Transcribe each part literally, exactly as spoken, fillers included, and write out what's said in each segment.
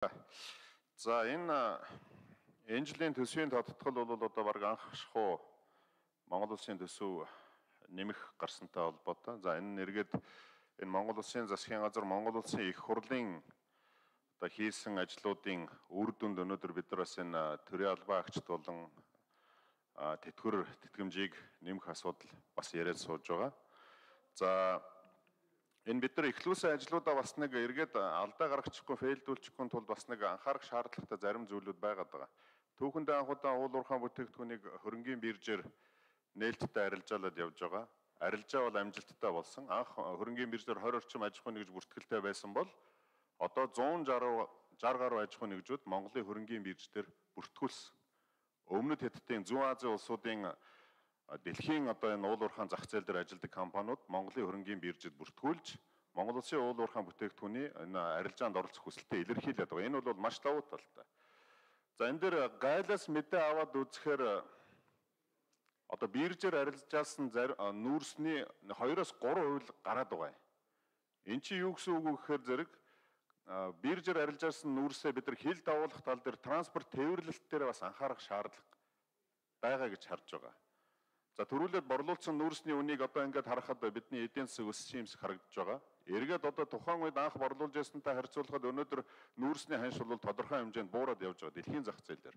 За энэ энэ жилийн төсвийн тодтгол бол одоо баг анх шахуу Монгол улсын төсөв нэмэх гарсантай холбоотой. За энэ нэргээд энэ Монгол улсын засгийн газар Монгол улсын их хурлын одоо хийсэн ажлуудын үр дүнд өнөөдөр бид нар бас энэ төрийн албан агчид болон тэтгэвэр тэтгэмжийг нэмэх асуудал бас яриад сууж байгаа. За энэ бид нар эхлүүлсэн ажлуудаа бас нэг эргээд алдаа гаргачихгүй, фейлдүүлчихгүй тулд бас нэг анхаарах шаардлагатай зарим зүйлүүд байгаад байгаа. Түүхэндээ анх удаа уул уурхайн бүтээгдэхүүнийг хөрөнгийн биржээр нээлттэй арилжаалаад явж байгаа. Арилжаа бол амжилттай болсон. Анх хөрөнгийн биржээр двадцать орчим аж ахуй нэгж бүртгэлтэй байсан бол одоо one sixty гаруй аж ахуй нэгжүүд Монголын хөрөнгийн биржээр бүртгүүлсэн. Өмнөд Хятадын Зүүн Азийн улсуудын дэлхийн одоо энэ уул уурхайн зах зээл дээр ажилладаг компаниуд Монголын хөрөнгийн биржид бүртгүүлж Монгол улсын уул уурхайн бүтээгдэхүүний энэ арилжаанд оролцох хүсэлтэд илэрхийлээд байгаа. Энэ бол маш давуу талтай. За энэ дээр гайлаас мэдээ аваад үзэхээр одоо биржээр арилжаалсан нүүрсний two-оос three хувь гараад байгаа. Энд чи юу гэсэн үг вэ гэхээр зэрэг биржээр арилжаалсан нүүрсээ бид нар хил давуулах тал дээр транспорт тээвэрлэлт дээр бас анхаарах шаардлага байгаа гэж харж байгаа. За төрүүлээд борлуулсан нүүрсний үнийг одоо ингээд харахад бидний эдийн засаг өссөн юмс харагдаж байгаа. Эргээд одоо тухайн үед анх борлуулж байсантай харьцуулахад өнөөдөр нүүрсний ханш бол тодорхой хэмжээнд буураад явж байгаа дэлхийн зах зээл дээр.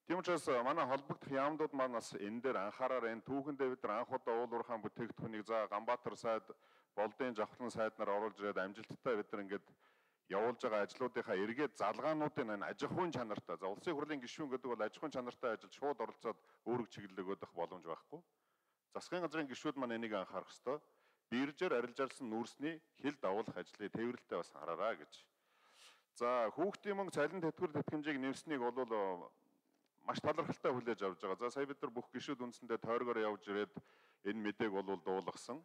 Тийм учраас манай холбогдох яамдууд манаас энэ дээр анхаараар энэ түүхэндээ бид нар анх удаа уул уурхайн бүтээгдэхүүнийг за Ганбаатар сайд, Болдын Жавхлан сайд нар оруулж ирээд амжилттай бид нар ингээд явуулж байгаа ажлуудынхаа эргээд залгаануудын энэ аж ахуйн чанартай. За улсын хурлын гишүүн гэдэг бол аж ахуйн чанартай ажилд шууд оролцоод өөрөг чиглэл өгөх боломж байхгүй. Засгийн газрын гишүүд маань энийг анхаарах ёстой. Биржээр арилжаалсан нүүрсний хил давуулах ажлыг тээвэрлэлтэй бас хараарай гэж. За хүүхдийн мөнгө цалин тэтгэвэр тэтгэмжийг нэмсэнийг бол маш талархалтай хүлээж авч байгаа. За сая бид нар бүх гишүүд үндсэндээ тойргоор явж ирээд энэ мэдээг бол дуулгасан.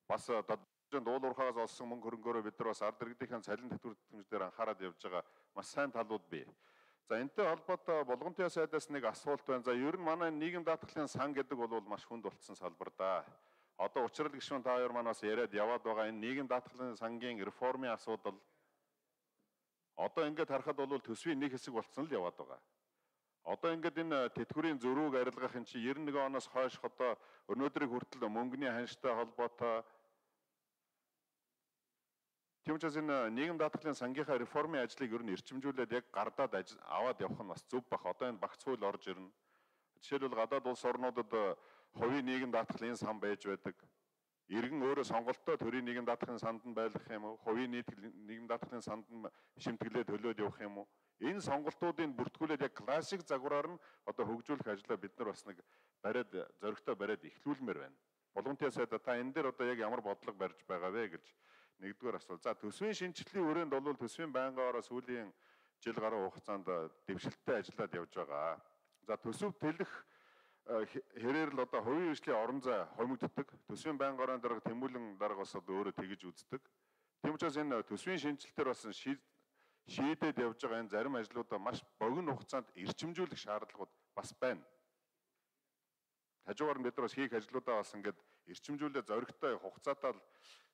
Бас уул уурхаагаас олсон мөнгө хөрөнгөөрөө бид нар бас ард иргэдийн цалин тэтгэвэр тэтгэмжээр анхаарал явж байгаа маш сайн талууд бий. За энэтэй холбоотой Болгонтын сайдаас нэг асуулт байна. За ер нь манай нийгэм даатгалын сан гэдэг бол маш хүнд болцсон салбар да. Одоо учрал гишүүн та хоёр маань бас яриад яваад байгаа энэ нийгэм даатгалын сангийн реформын асуудал одоо ингээд харахад бол төсвийн нэг хэсэг болцсон л яваад байгаа. Одоо ингээд энэ тэтгэврийн зөрүүг арилгах энэ чинь ninety-one оноос хойш одоо өнөөдрийг хүртэл мөнгөний ханштай холбоотой. Тийм учраас энэ нийгэм даатгалын сангийнхаа реформын ажлыг ер нь эрчимжүүлээд яг гардаад аваад явах нь бас зөв бах. Одоо энэ багц хууль орж ирнэ. Жишээлбэл гадаад улс орнуудад хувийн нийгэм даатгалын сан байж байдаг. Иргэн өөрөө сонголттой төрийн нийгэм даатгалын санд нь байлгах юм уу? Хувийн нийгэм даатгалын санд нь шимтгэлээ төлөөд явах юм уу? Энэ сонголтуудыг бүртгүүлээд яг классик загвараар нь одоо хөгжүүлэх ажлаа бид нар бас нэг бариад зөрөгтэй бариад эхлүүлмээр байна. Болгонтын сайд та энэ дээр одоо яг ямар бодлого барьж байгаа вэ гэж нэгдүгээр асуулт. За төсвийн шинжилтийн хүрээнд бол төсвийн байнгаараа сүүлийн жил гаруй хугацаанд дэвшилттэй ажиллаад явж байгаа. За төсөв тэлэх хэрээр л одоо хувийн хөгжлийн орон зай хомигддог. Төсвийн байнгаараа дарга тэмүүлэн дарга бас одоо өөрөө тэгж үздэг. Тийм учраас энэ төсвийн шинжилтээр бас шийдээд явж байгаа энэ зарим ажлуудаа маш богино хугацаанд эрчимжүүлэх шаардлагууд бас байна. Хажуугаар нь бид нар бас хийх ажлуудаа бас ингээд эрчимжүүлээ зоригтой хугацаатай л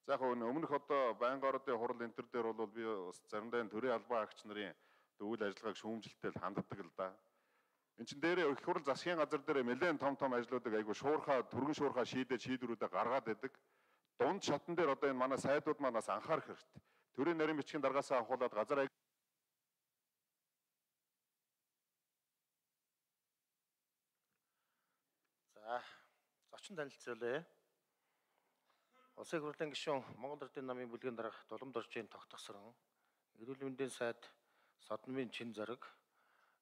за яг өмнөх одоо байнгааруудын хурал энэ төр дээр бол би бас заримдаа энэ төрийн албан агч нарын үйл ажиллагааг шүүмжилттэй ханддаг л да. Энд чин дээр их хурал засгийн газар дээр нэлээд том том ажлуудыг айгу шуурхаа түргэн шуурхаа шийдээд шийдвэрүүдээ гаргаад байдаг. Дунд шатн дээр одоо энэ манай сайдууд манаас анхаарах хэрэгтэй. Төрийн нарийн бичгийн даргаасаа авахуулаад газар За зочин танилцуулъя. Улсын хурлын гишүүн Монгол Эрдэнэ намын бүлгийн дарга Дулам Доржийн тогтгосрон эрүүл мэндийн сайд Содномын Чин Зориг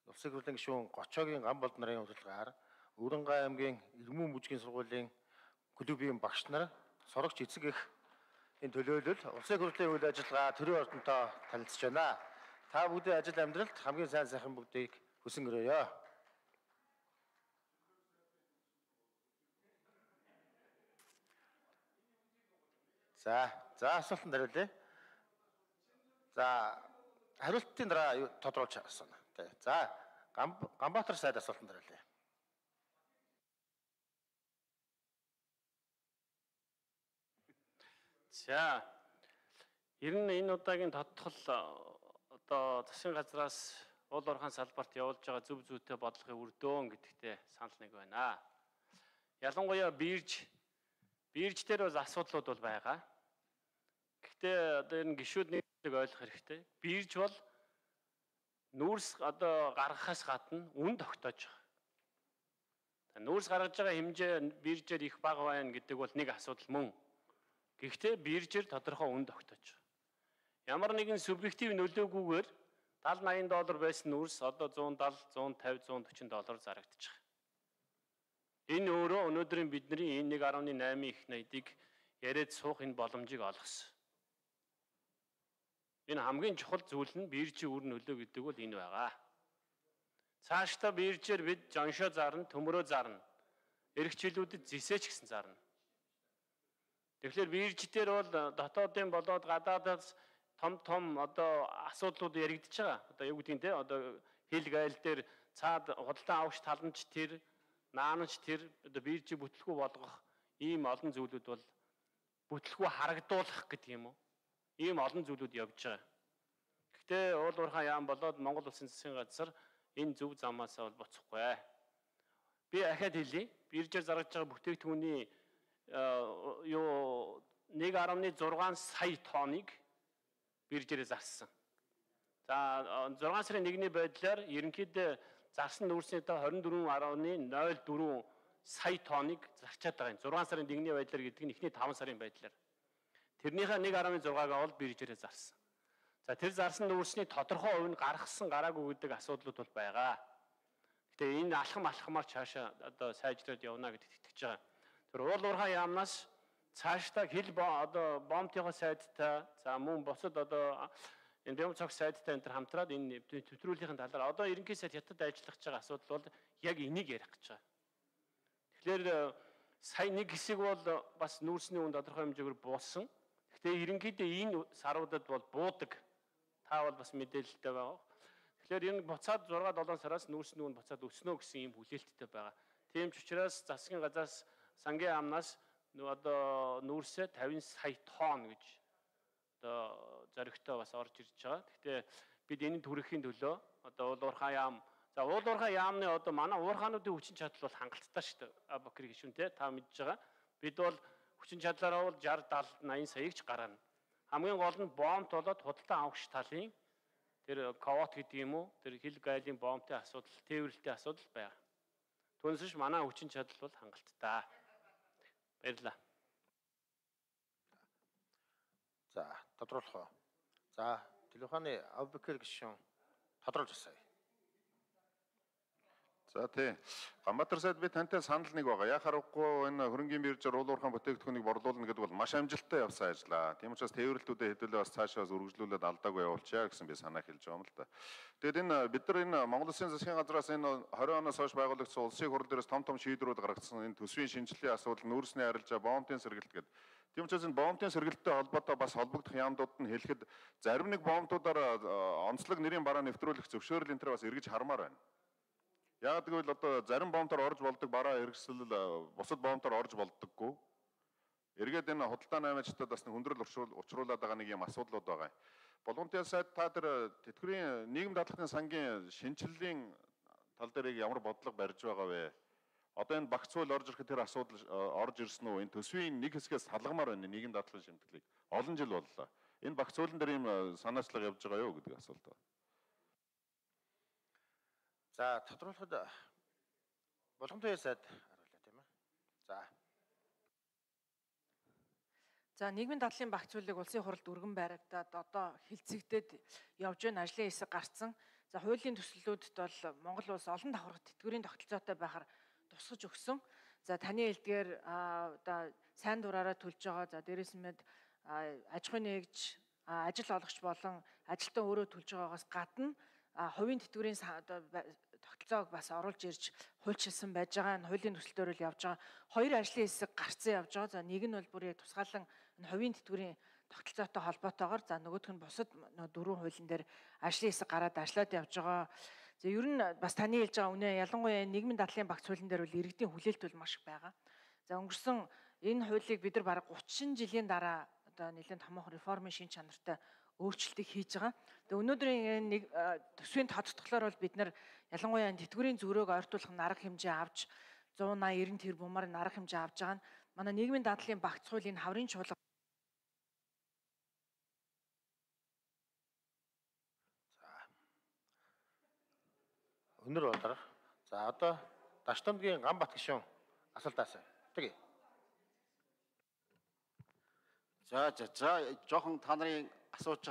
Улсын хурлын гишүүн Гочоогийн Ганболд нарын урилгаар Өрөнгай аймгийн Ирмэн бүжгийн сургуулийн клубийн багш нар сурагч эцэг их энэ төлөөлөл улсын хурлын үйл ажиллагаа төрийн ордонтой танилцж байна. Та бүдгийн ажил амьдралд хамгийн сайн сайхан бүгдийг хүсэн өрөөё. За, за асуултанд хариулъя. За, хариултын дараа тодруулж асууна. За, Ганбаатар сайд асуултанд хариулъя. За, ер нь энэ удаагийн тодтол одоо засгийн газраас уул уурхайн салбарт явуулж байгаа зөв зүйтэй бодлогын үр дүн гэдэгтээ санал нэг байна. Ялангуяа бирж бирж дээр бол асуудлууд бол байгаа. Гэхдээ одоо энэ гишүүднийг ойлгох хэрэгтэй. Бирж бол нүүрс одоо гаргахаас гадна үн тогтоож байгаа. Нүүрс гаргаж байгаа хэмжээ биржээр их бага байна гэдэг бол нэг асуудал мөн. Гэхдээ биржээр тодорхой үн тогтоож байгаа. Ямар нэгэн субъектив нөлөөгүйгээр талд наян доллар байсан нүүрс одоо зуун даал, зуун тавь, зуун төрчин доллар зарагдаж байгаа. Энэ өөрөө өнөөдрийн бидний энэ нэг арван найман их найдыг яриад суух энэ боломжийг олгосон. Энэ хамгийн чухал зүйл нь биржийн үр нөлөө гэдэг бол энэ байгаа. Цаашдаа биржээр бид жоншоо зарна, төмөрөө зарна. Эрхчлүүдэд зэсэж гисэн зарна. Тэгэхээр бирж дээр бол дотоодын болоод гадаадаас том том одоо асуудлууд яригдчихэж байгаа. Одоо юу гэдгийг те одоо хил гайл дээр цаад худалдан авагч таламж тэр наанч тэр одоо биржийг бүтлгүй болгох ийм олон зүйлүүд бол бүтлгүй харагдуулах гэдэг юм уу? Ийм олон зүйлүүд явж байгаа. Гэхдээ уул уурхай яам болоод Монгол Улсын засгийн газар энэ зөв замаас бол буцахгүй. Би ахаад хэлье. Биржээр зарж байгаа бүтээгдэхүүний юу нэг арван зургаан сая тонныг биржээр зарсан. За зургаан сарын нэгний байдлаар ерөнхийдөө зарсан нүүрсний та двадцать четыре гаруй ноль четыре сая тонныг зарчаад байгаа юм. зургаан сарын нэгний байдлаар гэдэг нь эхний таван сарын байдлаар. Тэрнийхээ нэг арван зургаагаа бол биржээр зарсан. За тэр зарсан нүүрсний тодорхой хувь нь гаргасан гараагүй гэдэг асуудлууд бол байгаа. Гэтэ энэ алхам алхамаар цаашаа одоо сайжраад явна гэдэгт итгэж байгаа. Тэр уул уурхай яамнаас цаашдаа хил одоо бомтын сайдтай за мөн босод одоо энэ бям цог сайдтай энэ хамтраад энэ төтрүүлгийн талаар одоо ерөнхий сайд хятад ажиллах гэж байгаа асуудал бол яг энийг ярих гэж байгаа. Тэгэхээр сая нэг хэсэг бол бас нүүрсний үн тодорхой хэмжээгээр бууссан. Гэхдээ ерөнхийдөө энэ саруудад бол буудаг. Та бол бас мэдээлэлтэй байгаа. Тэгэхээр энэ буцаад зургаад долоон сараас нүүрсний үн буцаад өснө гэсэн ийм хүлээлттэй байгаа. Тийм ч учраас засгийн газраас сангийн амнаас одоо нүүрсээ пятьдесят сая тонн гэж одоо зоригтой бас орж ирж байгаа. Гэхдээ бид энэ төрөхийн төлөө одоо уул уурхай яам за уул уурхай яамны одоо манай уурхаануудын хүчин чадал бол хангалттай шүү дээ. Абакир гишүүн те та мэдж байгаа. Бид бол хүчин чадлаараа бол шестьдесят сетenta восемьдесят саяг ч гарна. Хамгийн гол нь бомб болоод худалдан авагч талын тэр ковот гэдэг юм уу тэр хил гайлын бомбын асуудал, тээвэрлэлтийн асуудал байна. Түүнээс манай хүчин чадал бол хангалттай. Баярлалаа. За, тодруулах уу. За, телефоны Абакир гишүүн тодруулж асууя. За тий. Ганбаатар сайд би тантай санал нэг байгаа. Яг харахгүй энэ хөрөнгийн биржээр уул уурхайн бүтээгдэхүүнийг борлуулна гэдэг бол маш амжилттай явсан ажиллаа. Тийм учраас тээвэрлэлтүүдэд хэдүүлээ бас цаашаа үргэлжлүүлээд алдаагүй явуулчаа гэсэн би санаа хэлж байгаа юм л да. Тэгээд энэ бид нар энэ Монгол Улсын засгийн газраас энэ двадцать оноос хойш байгуулагдсан улсын хурал дээрээс том том шийдвэрүүд гаргацсан энэ төсвийн шинжилгээ асуудал, нүүрсний арилжаа, бомбын сэргэлт гэдэг. Тийм учраас энэ бомбын сэргэлттэй холбоотой бас холбогдох яамдууд нь хэлэхэд зарим нэг бомбуудаар онцлог нэрийн бараа нэвтрүүлэх зөвшөөрөл энэ төр бас эргэж хармаар байна. Яг гэвэл одоо зарим бомбоор орж болдог бараа хэрэгсэл бусад бомбоор орж болдоггүй. Эргээд энэ худалдаа наймаачдад бас нэг хүндрэл учруулад байгаа нэг юм асуудлууд байгаа. Болгоомжтой сайд та тэр тэтгэврийн нийгэм даатгалын сангийн шинжиллийн тал дээр ямар бодлого барьж байгаа вэ? Одоо энэ багц хууль орж ирэхэд тэр асуудал орж ирсэн үү? Энэ төсвийн нэг хэсгээс салгамаар байна нийгэм даатгалын шимтгэлийг. Олон жил боллоо. Энэ багц хуулийн дээр ийм санаачлага явж байгаа юу гэдэг асуулт байна. За, тодруулахад Болгоомжтой сайд харуулъя тийм ээ. За. За, нийгмийн дадлын багц хуулийг улсын хуралд өргөн баригдаад одоо хилцэгдээд явж байгаа ажлын хэсэг гарцсан. За, хуулийн төслүүдд бол Монгол улс олон давхаргад тэтгэврийн тогтолцоотой байхаар тусгаж өгсөн. За, таны хэлдгээр одоо сайн дураараа төлж байгаа. За, дээрээс нь аж ахуйн нэгж, ажил олгогч болон ажилтан өөрөө төлж байгаагаас гадна хувийн тэтгэврийн тогтолцоог бас оруулж ирж хуульчилсан байж байгаа. Энэ хуулийн төсөлтөөр л явж байгаа. Хоёр ажлын хэсэг гарцсан явж байгаа. За, нэг нь бол бүр яг тусгаалan энэ хувийн тэтгэврийн тогтолцоотой холбоотойгоор за нөгөөх нь бусад дөрвөн хуулийн дээр ажлын хэсэг гараад ажиллаад явж байгаа. За, ер нь бас таны хэлж байгаа үнэ ялангуяа нийгмийн дадлын багц хуулийн дээр бол иргэдийн хүлээлт бол маш их байгаа. За, өнгөрсөн энэ хуулийг бид нар бараг гучин жилийн дараа одоо нэлээд томоохон реформын шин чанартай өөрчлөлтийг хийж байгаа. Тэгээ өнөөдрийн нэг төсвийн тодтголоор бол бид нар ялангуяа тэтгэврийн зүрөөг ойртуулах арга хэмжээ авч one eighty ninety тэр бумаар арга хэмжээ авж байгаа нь манай нийгмийн дадлын багц хуулийн хаврын чуулга Өнөр болоор. За одоо Дашдамгийн Ганбат гишүүн асуултаасаа. Тэгье. За за за жоохон та нарын асууж